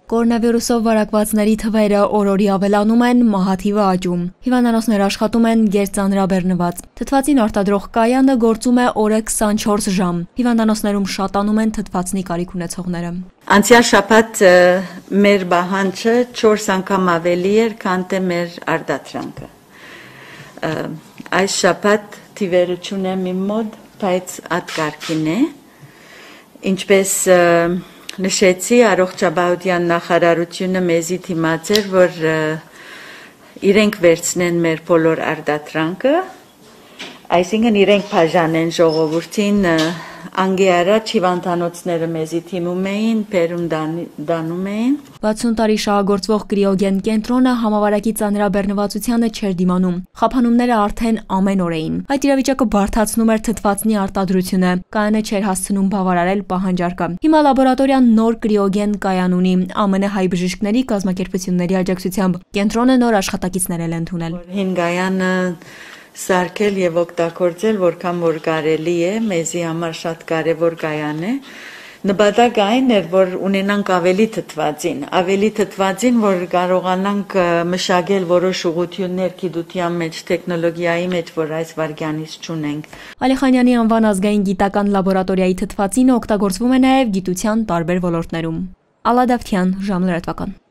Կորոնավիրուսով վարակվածների թվերը օր-օրի ավելանում են, մահաթիվը աճում։ Հիվանդանոցներ աշխատում են գերծանրաբեռնված։ Թթվածին արտադրող կայանը գործում է օրը 24 ժամ։ Հիվանդանոցներում շատանում են թթվածնի կարիք ունեցողները։ Անցյալ շաբաթ մեր բահանջը 4 անգամ ավելի էր, քան թե մեր արտադրանքը։ Այս շաբաթ թիվերը չունեմ իմ մոտ, բայց ատկարգին է, ինչպես նշեցի, առողջապահության նախարարությունը մեզի դիմացեր, որ իրենք վերցնեն մեր բոլոր արտադրանքը, այսինքն իրենք բաժանեն ժողովրդին, անգի առաջ հիվանդանոցները մեզի թիմում էին, բերում դանում էին։ 60 տարի շահագործվող կրիոգեն կենտրոնը համավարակի ծանրաբեռնվածությանը չէր դիմանում։ Խափանումները արդեն ամեն օր էին։ Այդ իրավիճակը բարդացնում էր թթվածնի արտադրությունը, կայանը չէր հասցնում բավարարել պահանջարկը։ Հիմա լաբորատորիան նոր կրիոգեն կայան ունի, ԱՄՆ հայ բժիշկների կազմակերպությունների աջակցությամբ։ Կենտրոնը նոր աշխատակիցներ էլ ընդունել։ Հին կայանը սարքել եւ օգտագործել որքան որ կարելի է, մեզի համար շատ կարեւոր կայան է։ Նպատակը այն էր, որ ունենանք ավելի թթվածին, որ կարողանանք մշակել որոշ ուղղություններ գիտության մեջ, տեխնոլոգիայի մեջ, որ այս վարքյանից չունենք։ Ալիխանյանի անվան ազգային գիտական լաբորատորիայի թթվածինը օգտագործվում է նաև գիտության տարբեր ոլորտներում։ Ալադավթյան, ժամլրատվական։